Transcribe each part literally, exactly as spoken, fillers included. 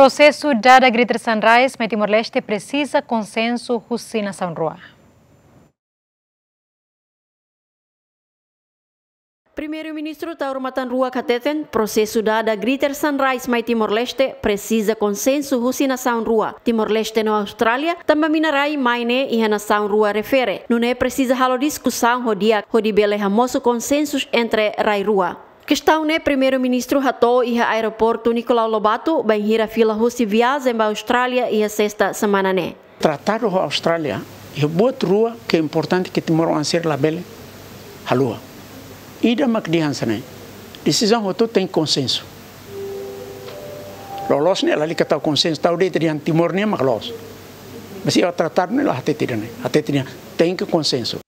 Prosesu dada Greater Sunrise mai Timor-Leste presiza konsensu husi nasaun rua. Primeiru-Ministru Taur Matan Ruak hateten, prosesu dada Greater Sunrise mai Timor-Leste presiza konsensu husi nasaun rua, Timor-Leste no Austrália, tanba mina rai mai ne'e iha nasaun rua refere. Nune'e presiza halo diskusaun ho di'ak hodi bele hamosu konsensu entre rai rua. Kestaun ne'e Primeiru-Ministru hato'o iha aeroportu Nicolau Lobato, bainhira fila husi viajen ba Austrália iha sesta semana ne'e. Tratadu ho Austrália, iha buat rua ke importante ke timoroan sira labele haluha. Ida mak dehan hanesan ne'e. Desizaun hotu tenke konsensu. Loloos ne'e lalika tau konsensu, tau de'it dehan Timor nian mak loos. Mas iha tratadu ne'e la hatete ida-ne'e, hatete dehan tenke konsensu.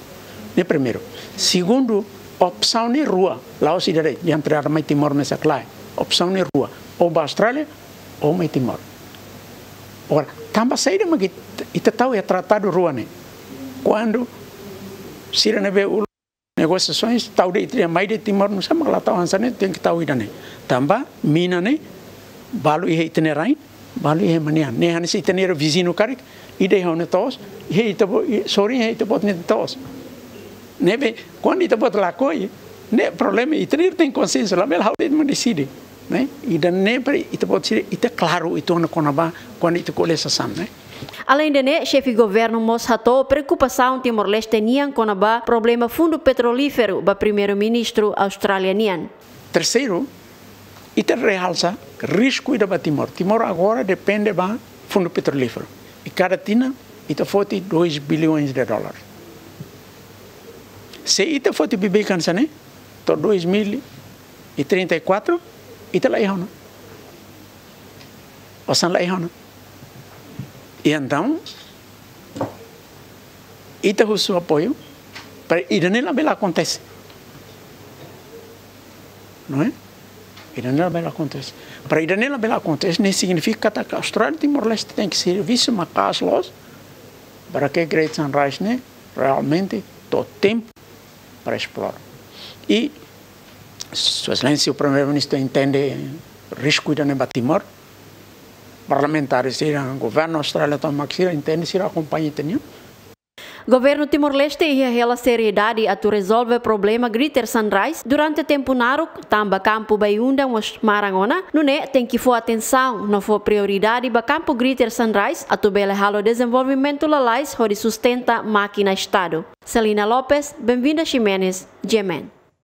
Ne'e primeiru. Segundu, opsaun ne'e rua, la'ós ida de'it, dehan tirada mai Timor mesak, lae. Opsaun ne'e rua, ou ba Austrália, ou mai Timor. Agora, tanba saida mak ita, ita tau iha tratadu rua ne'e? Kuandu sira ne'ebé uluk negosiasoens tau de'it, ita mai de'it Timor, nusá mak la tau hanesan ne'e, tenke tau ida-ne'e. Tanba mina ne'e balu iha ita-nia rain, balu iha ema nian. Ne'e hanesan ita-nia viziñu karik, ida iha ona to'os, iha ita-boot, i-, sorin iha ita-boot nia to'os. Ne'ebé, kuandu ita-boot lakohi, ne'e problema, ita-nia tenke konsensu, labele ha'u de'it mak deside. Ne'e, ida-ne'e para ita-boot sira, ita klaru, ita ona kona-ba, kuandu ita ko'alia sasán, ne'e. Aleinde ne'e, xefe governu mós hato'o preokupasaun Timor-Leste nian kona-ba problema fundu petrolíferu ba Primeiru-Ministru Austrália nian. Terseiru, ita realsa risku ida ba Timor. Timor agora depende ba fundu petrolíferu. I kada tinan, ita foti dois bilhões de dólares. Se ita foti beibeik hanesan ne'e, to'o dois mil e trinta e quatro, ita la iha ona. Osan la iha ona. I entaun, ita husu apoiu para ida-ne'e labele akontese. Não é? Ida-ne'e labele akontese. Para ida-ne'e labele akontese, ne'e signifika katak Austrália Timor-Leste tenke servisu maka'as loos para ke Great Sunrise ne'e realmente to'o tempu para esplora. I Sua Exelénsia Primeiru-Ministru entende risku ida-ne'e ba Timor. Parlamentares sira, governu Austrália tomak sira entende, sira akompaña ita-nia. Governu Timor-Leste iha hela seriedade atu rezolve problema Greater Sunrise durante tempu naruk, tanba kampu Bayu-Undan mós maran ona, nune'e tenke fó atensaun no fó prioridade ba kampu Greater Sunrise atu bele halo dezenvolvimentu lalais hodi sustenta mákina Estadu. Celina Lopes, Benvinda Ximenes, G M N.